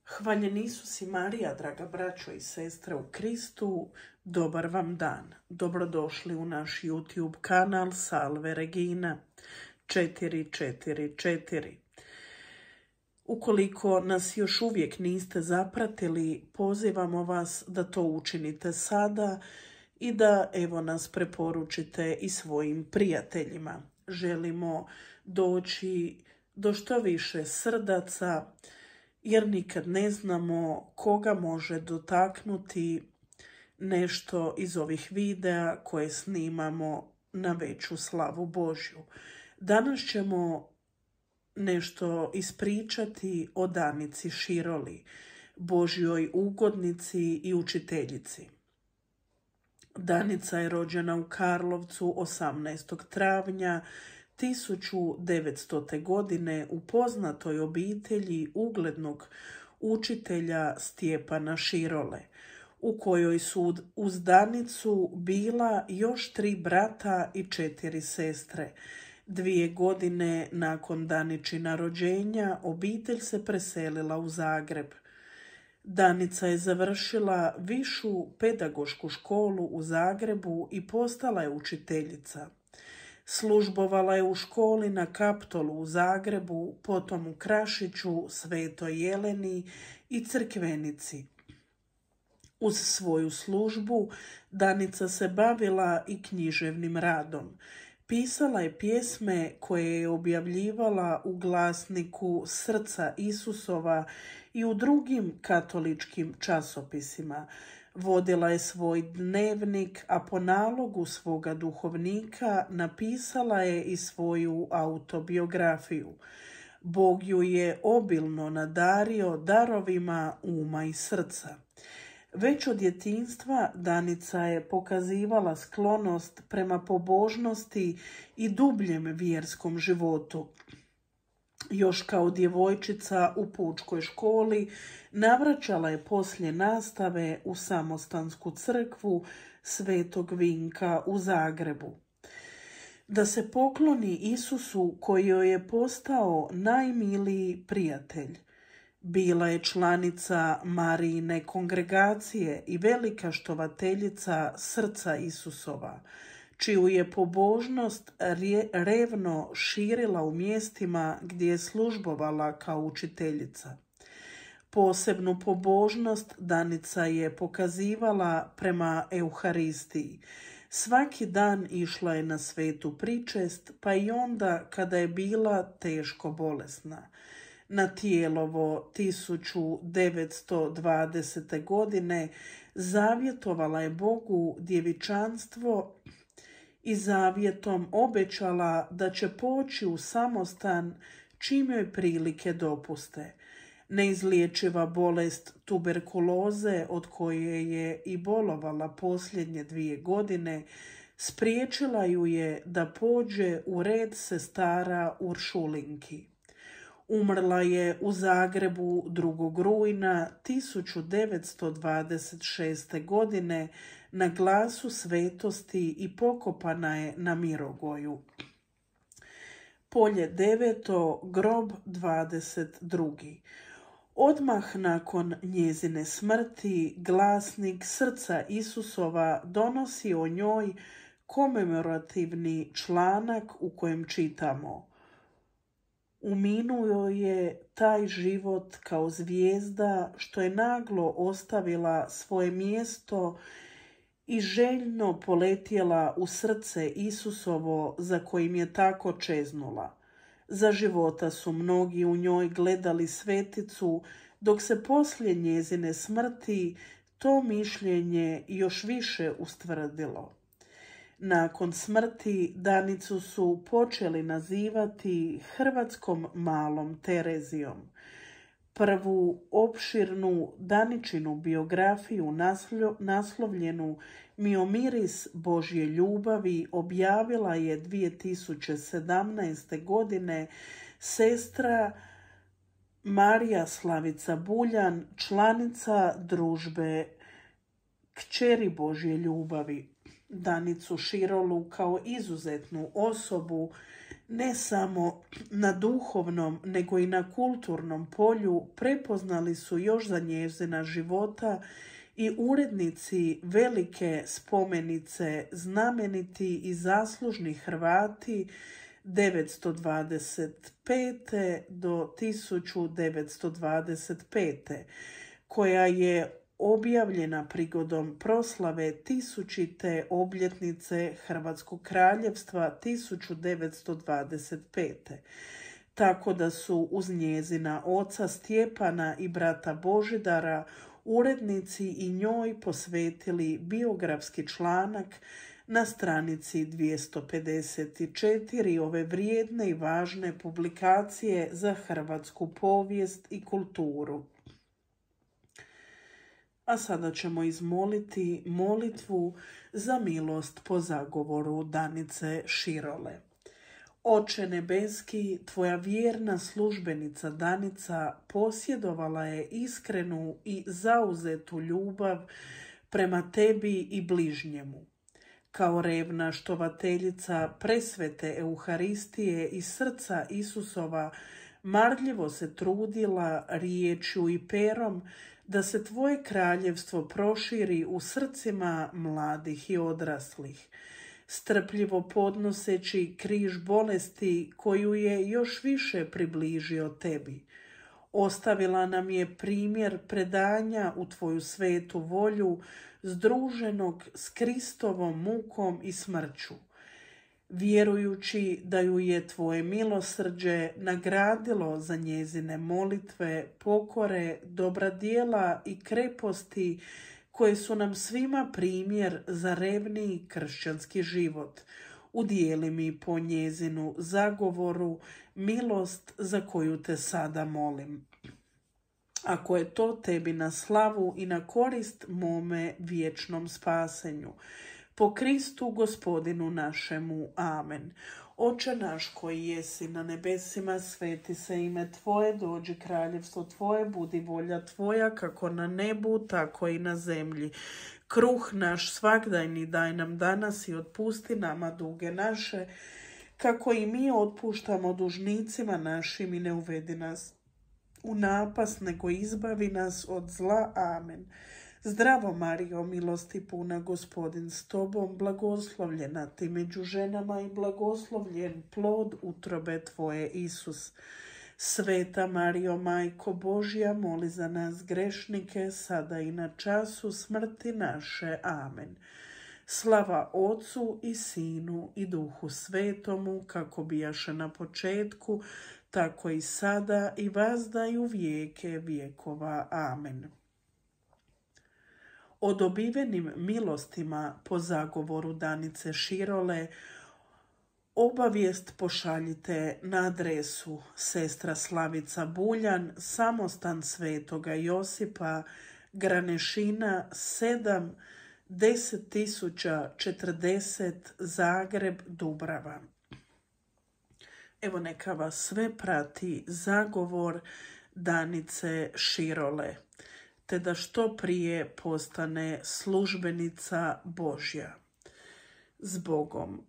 Hvaljen Isus i Marija, draga braćo i sestre u Kristu, dobar vam dan. Dobrodošli u naš YouTube kanal Salve Regina 444. Ukoliko nas još uvijek niste zapratili, pozivamo vas da to učinite sada i da nas preporučite i svojim prijateljima. Želimo doći do što više srdaca, jer nikad ne znamo koga može dotaknuti nešto iz ovih videa koje snimamo na veću slavu Božju. Danas ćemo nešto ispričati o Danici Široli, Božjoj ugodnici i učiteljici. Danica je rođena u Karlovcu 18. travnja 1900. godine u poznatoj obitelji uglednog učitelja Stjepana Širole, u kojoj su uz Danicu bila još 3 brata i 4 sestre. 2 godine nakon Daničina rođenja obitelj se preselila u Zagreb. Danica je završila višu pedagošku školu u Zagrebu i postala je učiteljica. Službovala je u školi na Kaptolu u Zagrebu, potom u Krašiću, Svetoj Jeleni i Crkvenici. Uz svoju službu Danica se bavila i književnim radom. Pisala je pjesme koje je objavljivala u glasniku Srca Isusova i u drugim katoličkim časopisima. Vodila je svoj dnevnik, a po nalogu svoga duhovnika napisala je i svoju autobiografiju. Bog ju je obilno nadario darovima uma i srca. Već od djetinjstva Danica je pokazivala sklonost prema pobožnosti i dubljem vjerskom životu. Još kao djevojčica u pučkoj školi navraćala je poslije nastave u samostansku crkvu Svetog Vinka u Zagrebu. Da se pokloni Isusu koji joj je postao najmiliji prijatelj. Bila je članica Marijine kongregacije i velika štovateljica Srca Isusova, čiju je pobožnost revno širila u mjestima gdje je službovala kao učiteljica. Posebnu pobožnost Danica je pokazivala prema Euharistiji. Svaki dan išla je na svetu pričest, pa i onda kada je bila teško bolesna. Na Tijelovo 1920. godine zavjetovala je Bogu djevičanstvo i zavjetom obećala da će poći u samostan čim joj prilike dopuste. Neizliječiva bolest tuberkuloze, od koje je i bolovala posljednje 2 godine, spriječila ju je da pođe u red sestara Uršulinki. Umrla je u Zagrebu 2. rujna 1926. godine na Glasu svetosti i pokopana je na Mirogoju. Polje 9. grob 22. Odmah nakon njezine smrti glasnik Srca Isusova donosi o njoj komemorativni članak u kojem čitamo: uminuo je taj život kao zvijezda što je naglo ostavila svoje mjesto i željno poletjela u srce Isusovo za kojim je tako čeznula. Za života su mnogi u njoj gledali sveticu, dok se poslije njezine smrti to mišljenje još više ustvrdilo. Nakon smrti Danicu su počeli nazivati Hrvatskom malom Terezijom. Prvu opširnu Daničinu biografiju naslovljenu Miomiris Božje ljubavi objavila je 2017. godine sestra Marija Slavica Buljan, članica družbe Kćeri Božje ljubavi. Danicu Širolu kao izuzetnu osobu Ne samo na duhovnom, nego i na kulturnom polju prepoznali su još za njezina života i urednici velike spomenice, znameniti i zaslužni Hrvati 925. do 1925. koja je objavljena prigodom proslave 1000. obljetnice Hrvatskog kraljevstva 1925. Tako da su uz njezina oca Stjepana i brata Božidara urednici i njoj posvetili biografski članak na stranici 254 ove vrijedne i važne publikacije za hrvatsku povijest i kulturu. A sada ćemo izmoliti molitvu za milost po zagovoru Danice Širole. Oče nebeski, tvoja vjerna službenica Danica posjedovala je iskrenu i zauzetu ljubav prema tebi i bližnjemu. Kao revna štovateljica presvete Euharistije i srca Isusova, marljivo se trudila riječju i perom da se tvoje kraljevstvo proširi u srcima mladih i odraslih, strpljivo podnoseći križ bolesti koju je još više približio tebi. Ostavila nam je primjer predanja u tvoju svetu volju, združenog s Kristovom mukom i smrću. Vjerujući da ju je tvoje milosrđe nagradilo za njezine molitve, pokore, dobra djela i kreposti koje su nam svima primjer za revniji kršćanski život. Udijeli mi po njezinu zagovoru milost za koju te sada molim. Ako je to tebi na slavu i na korist mome vječnom spasenju. Po Kristu Gospodinu našemu. Amen. Oče naš koji jesi na nebesima, sveti se ime Tvoje, dođi kraljevstvo Tvoje, budi volja Tvoja, kako na nebu, tako i na zemlji. Kruh naš svagdajni daj nam danas i otpusti nama duge naše, kako i mi otpuštamo dužnicima našim, i ne uvedi nas u napast, nego izbavi nas od zla. Amen. Zdravo Marijo, milosti puna, Gospodin s tobom, blagoslovljena ti među ženama i blagoslovljen plod utrobe tvoje, Isus. Sveta Marijo, Majko Božja, moli za nas grešnike, sada i na času smrti naše. Amen. Slava Otcu i Sinu i Duhu Svetomu, kako bijaše na početku, tako i sada i vazda i u vijeke vjekova. Amen. O dobivenim milostima po zagovoru Danice Širole obavijest pošaljite na adresu Sestra Slavica Buljan, Samostan Svetoga Josipa, Granešina 7, 10.040, Zagreb, Dubrava. Evo neka vas sve prati zagovor Danice Širole, te da što prije postane službenica Božja. S Bogom.